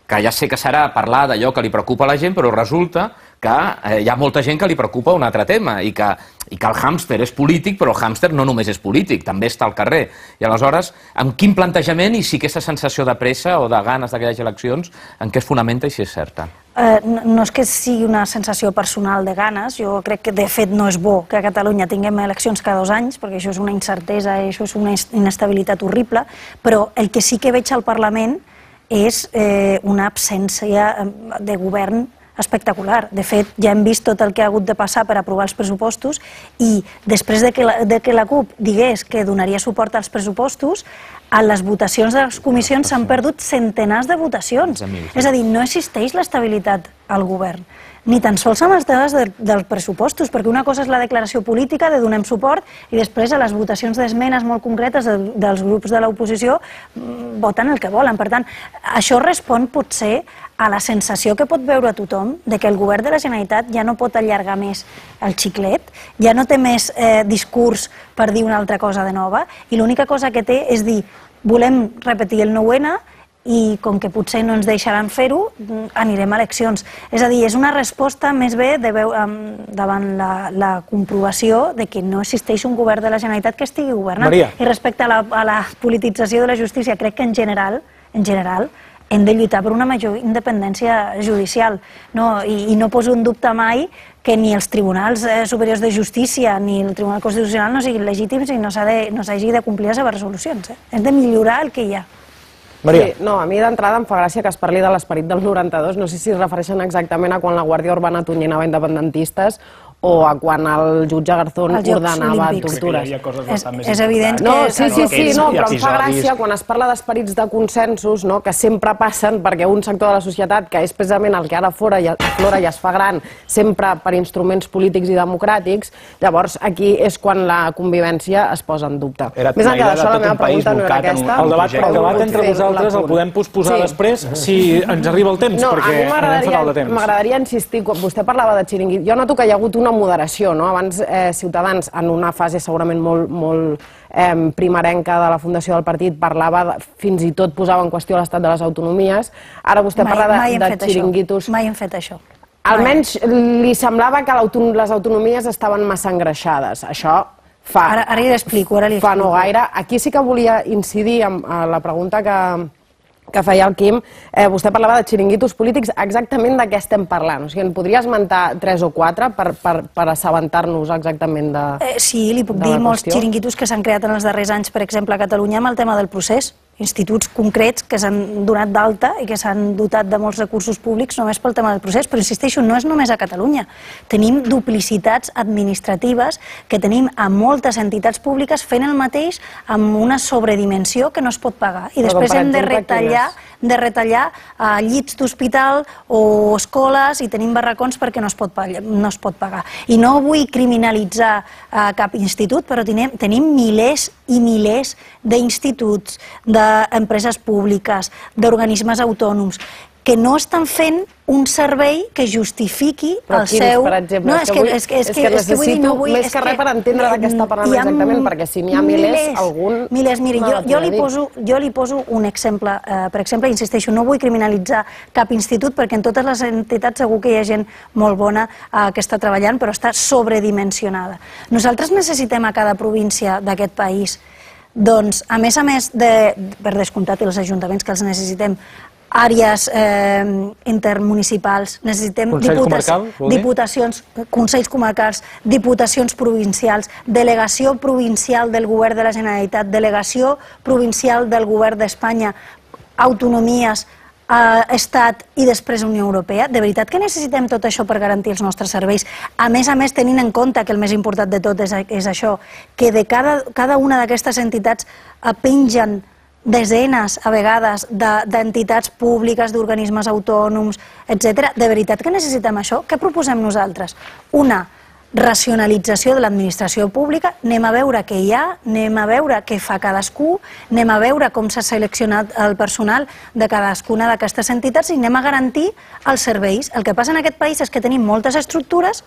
que ja sé que serà parlar d'allò que li preocupa a la gent, però resulta que eh, hi ha molta gent que li preocupa un altre tema i que, i que el hàmster és polític, però el hàmster no només és polític, també està al carrer. I aleshores, amb quin plantejament i si aquesta sensació de pressa o de ganes que hi hagi eleccions, en què es fonamenta i si és certa? Eh, no, no és que sigui una sensació personal de ganes, jo crec que de fet no és bo que a Catalunya tinguem eleccions cada dos anys, perquè això és una incertesa i això és una inestabilitat horrible, però el que sí que veig al Parlament és eh, una absència de govern espectacular. De fet, ja hem vist tot el que ha hagut de passar per aprovar els pressupostos i després de que la, de que la CUP digués que donaria suport als pressupostos, a les votacions de les comissions s'han perdut centenars de votacions. És a dir, no existeix l'estabilitat al govern, ni tan sols amb les dades de, dels pressupostos, perquè una cosa és la declaració política de donem suport i després a les votacions d'esmenes molt concretes de, dels grups de l'oposició voten el que volen. Per tant, això respon potser a la sensació que pot veure tothom de que el govern de la Generalitat ja no pot allargar més el xiclet, ja no té més eh, discurs per dir una altra cosa de nova i l'única cosa que té és dir volem repetir el nou ena i com que potser no ens deixaran fer-ho, anirem a eleccions. És a dir, és una resposta més bé de veu, um, davant la, la comprovació de que no existeix un govern de la Generalitat que estigui governant. Maria. I respecte a la, a la politització de la justícia, crec que en general, en general, hem de lluitar per una major independència judicial. No? I, I no poso en dubte mai que ni els tribunals eh, superiors de justícia ni el Tribunal Constitucional no siguin legítims i no s'hagi de, no de complir les seves resolucions. Eh? Hem de millorar el que hi ha. Maria. Sí, no, a mi d'entrada em fa gràcia que es parli de l'esperit del noranta-dos, no sé si es refereixen exactament a quan la Guàrdia Urbana atonyinava independentistes o a quan el jutge Garzón ordenava tortures. És, és evident que... No, sí, sí, sí, no, però em fa gràcia quan es parla d'esperits de consensos, no, que sempre passen perquè un sector de la societat, que és precisament el que ara fora i flora i es fa gran, sempre per instruments polítics i democràtics, llavors aquí és quan la convivència es posa en dubte. Més enllà d'això, la meva pregunta no era aquesta. El debat, el debat entre vosaltres el podem posposar sí. després si ens arriba el temps, no, perquè anem fatal de temps. M'agradaria insistir, vostè parlava de xiringuit, jo noto que hi ha hagut una moderació, no? Abans eh, Ciutadans, en una fase segurament molt, molt eh, primerenca de la fundació del partit, parlava, de, fins i tot posava en qüestió l'estat de les autonomies, ara vostè mai, parla mai de, de xiringuitos. Mai hem fet això. Almenys li semblava que les autonomies estaven massa engreixades, això fa, ara, ara li explico, ara li fa explico. no gaire. Aquí sí que volia incidir en, en la pregunta que... que feia el Quim, eh, vostè parlava de xiringuitos polítics, exactament de què estem parlant? O sigui, en podria esmentar tres o quatre per, per, per assabentar-nos exactament de eh, Sí, li puc dir molts xiringuitos que s'han creat en els darrers anys, per exemple, a Catalunya, amb el tema del procés. instituts concrets que s'han donat d'alta i que s'han dotat de molts recursos públics només pel tema del procés, però insisteixo, no és només a Catalunya. Tenim duplicitats administratives que tenim a moltes entitats públiques fent el mateix amb una sobredimensió que no es pot pagar. I després hem de retallar de retallar llits d'hospital o escoles i tenim barracons perquè no es pot pagar. I no vull criminalitzar cap institut, però tenim milers i milers d'instituts, d'empreses públiques, d'organismes autònoms, que no estan fent un servei que justifiqui el seu... Per exemple, és que necessito més que res per entendre de què està parlant exactament, perquè si n'hi ha milers, algun... Milers, miri, jo li poso un exemple. Per exemple, insisteixo, no vull criminalitzar cap institut, perquè en totes les entitats segur que hi ha gent molt bona que està treballant, però està sobredimensionada. Nosaltres necessitem a cada província d'aquest país, doncs, a més a més, per descomptat, els ajuntaments que els necessitem, àrees intermunicipals, necessitem diputacions, consells comarcals, diputacions provincials, delegació provincial del govern de la Generalitat, delegació provincial del govern d'Espanya, autonomies, Estat i després Unió Europea. De veritat que necessitem tot això per garantir els nostres serveis. A més a més, tenint en compte que el més important de tot és això, que de cada una d'aquestes entitats pengen desenes, a vegades, d'entitats públiques, d'organismes autònoms, etcètera. De veritat que necessitem això? Què proposem nosaltres? Una racionalització de l'administració pública, anem a veure què hi ha, anem a veure què fa cadascú, anem a veure com s'ha seleccionat el personal de cadascuna d'aquestes entitats i anem a garantir els serveis. El que passa en aquest país és que tenim moltes estructures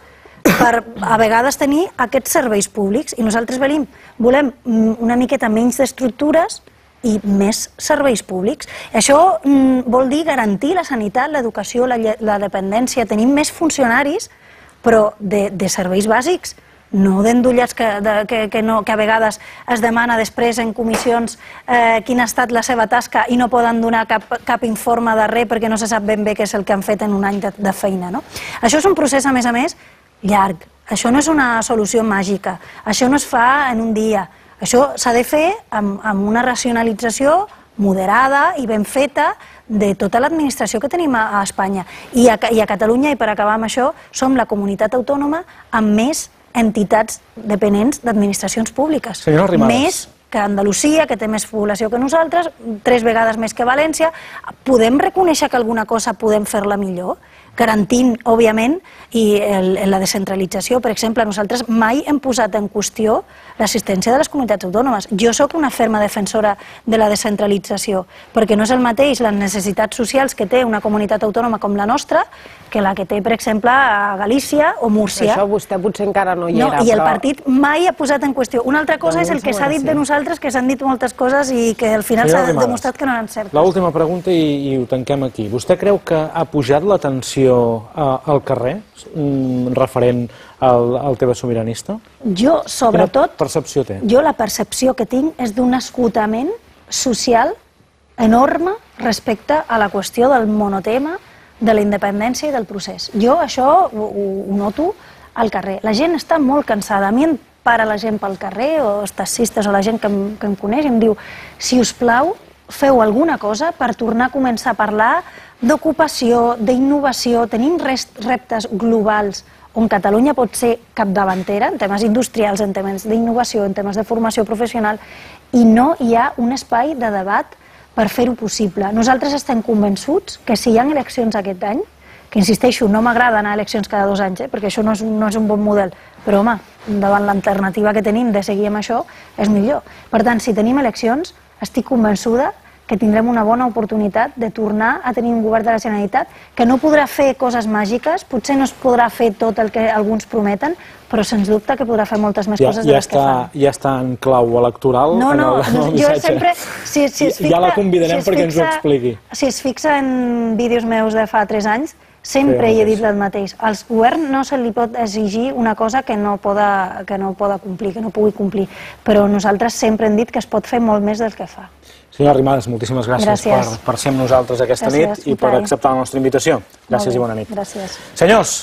per a vegades tenir aquests serveis públics i nosaltres volem una miqueta menys d'estructures i més serveis públics. Això vol dir garantir la sanitat, l'educació, la dependència. Tenim més funcionaris, però de serveis bàsics, no d'endollats que a vegades es demana després en comissions quina ha estat la seva tasca i no poden donar cap informe de res perquè no se sap ben bé què és el que han fet en un any de feina. Això és un procés, a més a més, llarg. Això no és una solució màgica. Això no es fa en un dia. Això s'ha de fer amb una racionalització moderada i ben feta de tota l'administració que tenim a Espanya. I a Catalunya, i per acabar amb això, som la comunitat autònoma amb més entitats dependents d'administracions públiques. Més que Andalusia, que té més població que nosaltres, tres vegades més que València. Podem reconèixer que alguna cosa podem fer-la millor? Garantint, òbviament, i la descentralització. Per exemple, nosaltres mai hem posat en qüestió l'assistència de les comunitats autònomes. Jo sóc una ferma defensora de la descentralització, perquè no és el mateix les necessitats socials que té una comunitat autònoma com la nostra que la que té, per exemple, a Galícia o Múrcia. Això vostè potser encara no hi era. I el partit mai ha posat en qüestió. Una altra cosa és el que s'ha dit de nosaltres, que s'han dit moltes coses i que al final s'ha demostrat que no eren certes. L'última pregunta i ho tanquem aquí. Vostè creu que ha pujat la tensió al carrer referent al tema sobiranista? Jo, sobretot... Quina percepció té? Jo la percepció que tinc és d'un esgotament social enorme respecte a la qüestió del monotema, de la independència i del procés. Jo això ho noto al carrer. La gent està molt cansada. A mi em para la gent pel carrer, o els taxistes o la gent que em coneix, i em diu, si us plau, feu alguna cosa per tornar a començar a parlar d'ocupació, d'innovació. Tenim reptes globals on Catalunya pot ser capdavantera en temes industrials, en temes d'innovació, en temes de formació professional, i no hi ha un espai de debat per fer-ho possible. Nosaltres estem convençuts que si hi ha eleccions aquest any, que insisteixo, no m'agrada anar a eleccions cada dos anys, perquè això no és un bon model, però home, davant l'alternativa que tenim de seguir amb això, és millor. Per tant, si tenim eleccions, estic convençuda que tindrem una bona oportunitat de tornar a tenir un govern de la Generalitat que no podrà fer coses màgiques, potser no es podrà fer tot el que alguns prometen, però sens dubte que podrà fer moltes més coses de les que fan. Ja està en clau electoral? No, no, jo sempre... Ja la convidarem perquè ens ho expliqui. Si es fixa en vídeos meus de fa tres anys, sempre hi he dit el mateix. Al govern no se li pot exigir una cosa que no poda complir, que no pugui complir, però nosaltres sempre hem dit que es pot fer molt més del que fa. Senyora Arrimadas, moltíssimes gràcies per ser amb nosaltres aquesta nit i per acceptar la nostra invitació. Gràcies i bona nit. Gràcies. Senyors,